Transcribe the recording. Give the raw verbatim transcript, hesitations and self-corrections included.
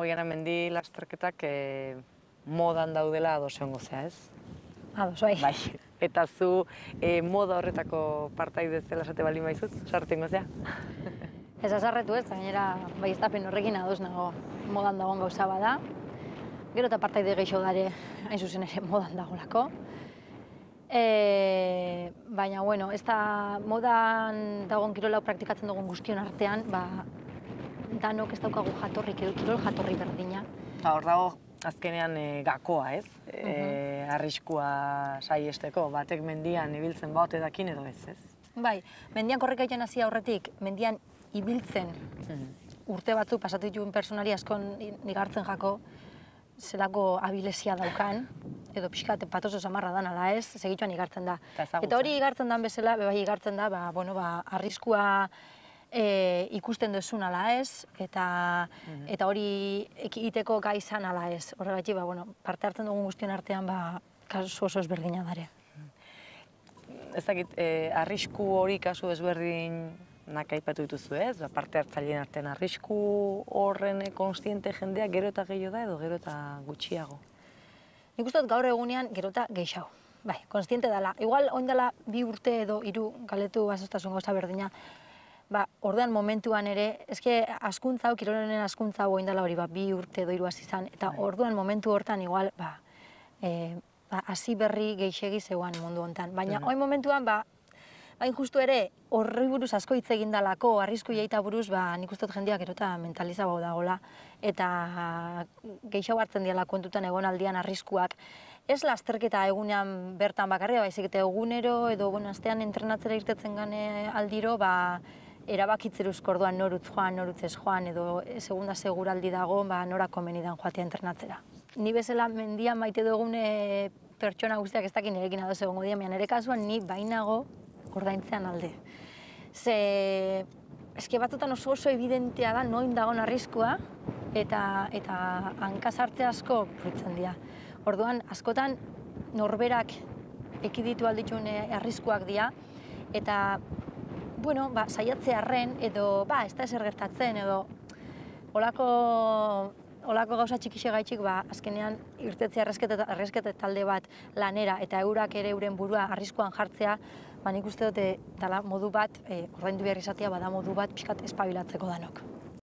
Oiana, mendi lasterketak eh, modan daudela ados egongo zea, ez? Ados, bai. Bai. Eta zu eh, moda horretako partaide zela esate baldin baizut, sartengo zea? Ez azarretu ez, gainera baieztapen horrekin ados nago modan dagoen gauza bada. Gero eta partaide gehiago dare, hain zuzen ere modan dagolako. E, baina, bueno, ez da modan dagoen kirola praktikatzen dugun guztion artean, ba, danok ez daukagu jatorrik edo kirol jatorri berdina. Ba, hor dago azkenean e, gakoa, ez? E, arriskua saiesteko, batek mendian ibiltzen baute dakin edo ez, ez? Bai, mendian korrikaiten hasi aurretik, mendian ibiltzen urte batzuk pasatu dituen personari askon nigartzen jako zelako abilesia daukan, edo pixkat patoso samarra dan ala ez, segituan igartzen da. Eta hori igartzen dan bezala, bai igartzen da, ba, bueno, ba, arriskua e, ikusten duzun ala ez, eta, eta hori egiteko gai izan ala ez. Horregatik, ba, bueno, parte hartzen dugun guztion artean, ba, kasu oso ezberdina dare. Ez dakit, e, arrisku hori kasu ezberdin nak aipatu dituzu ez, ba, parte hartzaileen artean arrisku horren konstiente jendea gero eta gehiago da edo gero eta gutxiago? Nik uste dut gaur egunean gero eta gehiago. Bai, konstiente dela. Igual, oin dela bi urte edo hiru galetu bazostasun gauza berdina, ba, ordean momentuan ere, eske askuntza hau, kirolonen askuntza hau oin dela hori, ba, bi urte edo hiru hasi izan, eta orduan momentu hortan igual, ba, e, ba, hasi berri geixegi zegoan mundu hontan. Baina, oin momentuan, ba, hain justu ere, horri buruz asko hitz egin dalako, arrisku jaita buruz, ba, nik uste dut jendeak gero eta mentalizago dagoela, eta gehiago hartzen diala kontutan egon aldian arriskuak. Ez lasterketa egunean bertan bakarria, baizik eta egunero edo bueno, astean entrenatzera irtetzen gane aldiro, ba, erabakitzeruzko orduan norutz joan, norutz ez joan, edo segunda seguraldi dago, ba, nora komenidan joatea entrenatzera. Ni bezala mendian maite dugune pertsona guztiak ez dakin erekin adoz egongo dira, nire kasuan ni bainago ordaintzean alde. Ze, eske batzutan oso oso evidentea da noin dagoen arriskua eta, eta hanka sartze asko fruitzen dira. Orduan, askotan norberak ekiditu aldituen arriskuak dira eta, bueno, ba, saiatzearren edo, ba, ez da ezer gertatzen edo olako Olako gauza txikixe gaitxik, ba, azkenean irtetzea erreskete talde bat lanera eta eurak ere euren burua arriskuan jartzea, ba, nik uste dute dela modu bat, e, ordaindu behar izatea, bada modu bat pixkat espabilatzeko danok.